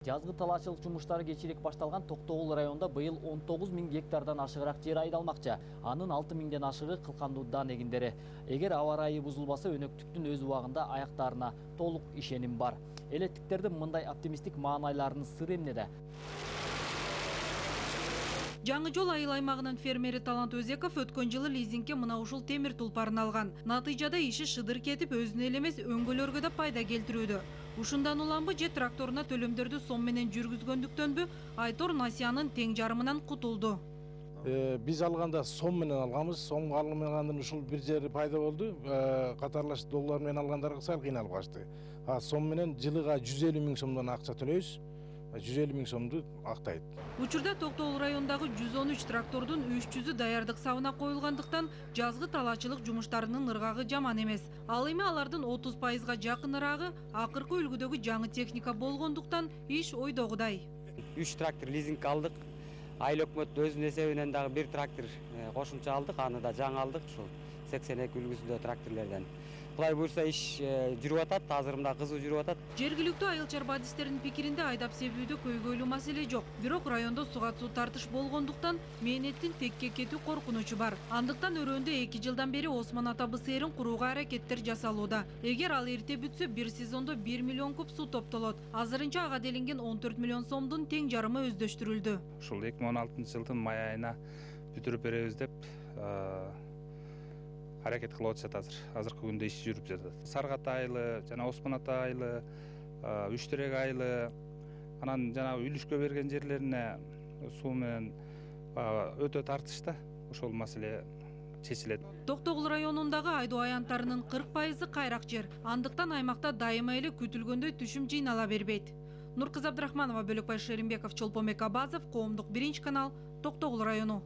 Жазгы талаачылык жумуштары кечирээк башталган Токтогул районунда быйыл 19 000 гектардан ашыгыраак жер айдалмакчы. Анын 6 000ден ашыгы кылкандуу дан эгиндери. Эгер аба ырайы бузулбаса, өнөктүктүн өз убагында аяктарына толук ишеним бар. Элеттиктердин мындай оптимисттик маанайларынын сыры эмнеде? Жаңы жол айыл аймагынын фермери Талант Өзеков өткөн жылы лизингке мына ушул темир тулпарын алган. Натыйжада иши шыдыр кетип, өзүнө эле эмес өңгөлөргө да пайда келтирүүдө. Ушундан уламбы же тракторуна төлөмдөрдү сом менен жүргүзгөндүктөнбү, Айтор Насиянын тең жарымынан кутулду. Биз алганда сом менен алганбыз. Сомго алынмаганын ушул бир жери пайда болду. Катарлаш доллар менен алгандарга сал кыйналып качты. Сом менен жылыга 150 000 сомдон акча төлөйбүз. 150 000 сомду актайт. Учурда Токтогул районундагы 113 трактордун 300-ü даярдык сабына коюлгандыктан жазгы талаачылык жумуштарынын ыргагы жаман эмес. Ал эми алардын 30%га жакын ырагы акыркы үлгүдөгү жаңы техника болгондуктан иш ойдогудай. 3 трактор лизингге алдык. Айыл өкмөт өзүнүн эсебинен дагы бир трактор кошумча алдык, аны да жаңы алдык, ушул 82 үлгүсүндө тракторлордон. Кудай буйрса иш жүрүп атат, азыр мында кызуу жүрүп атат. Жергиликтүү айыл чарбадистердин пикиринде айдап себүүдө көйгөйлүү маселе жок. Бирок райондо суга суу тартыш болгондуктан мээнеттин текке кетүү коркунучу бар. Андыктан өрөөндө 2 жылдан бери Осмон Атабы сээрин курууга аракеттер жасалууда. Эгер ал эрте бүтсө, бир сезондо 1 миллион куб суу топтолот. Азырынча ага делинген 14 миллион сомдун тең жарымы өздөштүрүлдү. Ушул 2016-жылдын май айына бүтүрүп беребиз деп аракет кылып атышат азыркы күндө иш жүрүп жатат. Саргат айылы, жана Осмон Ата айылы, Үчтерек айылы, анан жана үлүшкө берген жерлерине суу менен өтө тартышта. Ошол маселе чечилет. Токтогул районундагы айдоо аянттарынын 40% кайрак жер. Андыктан аймакта дайыма эле күтүлгөндөй түшүм жыйнала бербейт. Нуркызы Абдрахманова, Бөлөкбай Шеримбеков, Чолпонбек Абазов, Коомдук 1 канал, Токтогул району.